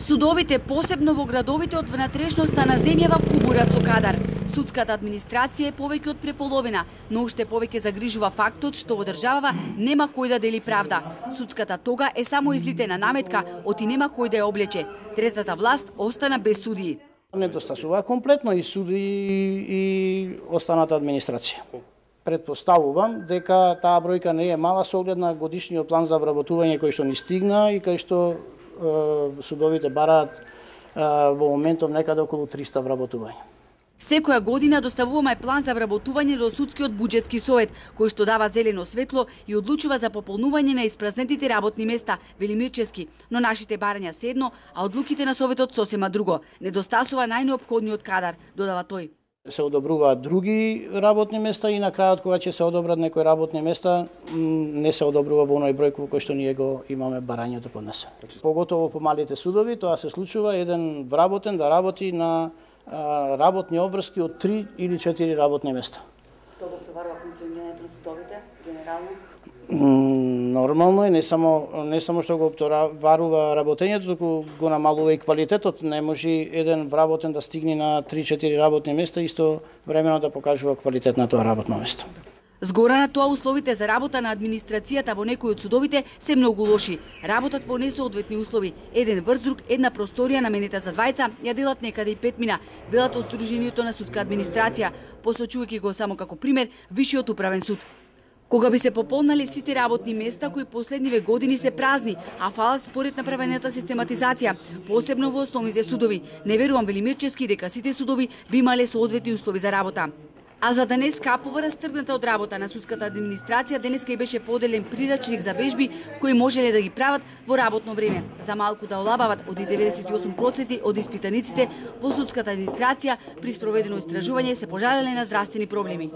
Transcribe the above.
Судовите, посебно во градовите од внатрешноста на земјава, кубурат со кадар. Судската администрација е повеќе од преполовина, но уште повеќе загрижува фактот што во државава нема кој да дели правда. Судската тога е само излитена наметка, оти нема кој да ја облече. Третата власт остана без судии. Недостасува комплетно и суди и останата администрација. Предпоставувам дека таа бројка не е мала со оглед на годишниот план за вработување кој што ни стигна и кај што судовите бараат во моментов некаде околу 300 вработувања. Секоја година доставуваме план за вработување до судскиот буџетски совет, кој што дава зелено светло и одлучува за пополнување на испразнетите работни места, вели Мирчевски, но нашите барања се едно, а одлуките на советот сосема друго. Недостасува најнеопходниот кадар, додава тој. Се одобруваат други работни места и на крајот кога ќе се одобрат некои работни места, не се одобрува во оној број кој што ние го имаме барањето поднесено. Поготово по малите судови, тоа се случува еден вработен да работи на работни обврски од 3 или 4 работни места. Тоа го товарува функционирањето на судовите генерално? Нормално е, не само што го обтоварува работењето, туку го намалува и квалитетот. Не може еден вработен да стигне на 3-4 работни места, исто времено да покажува квалитет на тоа работно место. Згора на тоа, условите за работа на администрацијата во некои од судовите се многу лоши. Работат во несоодветни услови. Еден врзрук, една просторија наменета за двајца, ја делат некаде и 5 мина, велат од Сдруженијето на судска администрација, посочувајќи го само како пример Вишиот управен суд. Кога би се пополнали сите работни места кои последниве години се празни, а фалат според направената систематизација, посебно во основните судови, не верувам, вели Мирчевски, дека сите судови би имале соодветни услови за работа. А за да не скапува растргната од работа на судската администрација, денеска и беше поделен прирачник за вежби кои можеле да ги прават во работно време. За малку да олабават, од 98% од испитаниците во судската администрација при спроведено истражување се пожалеле на здравствени проблеми.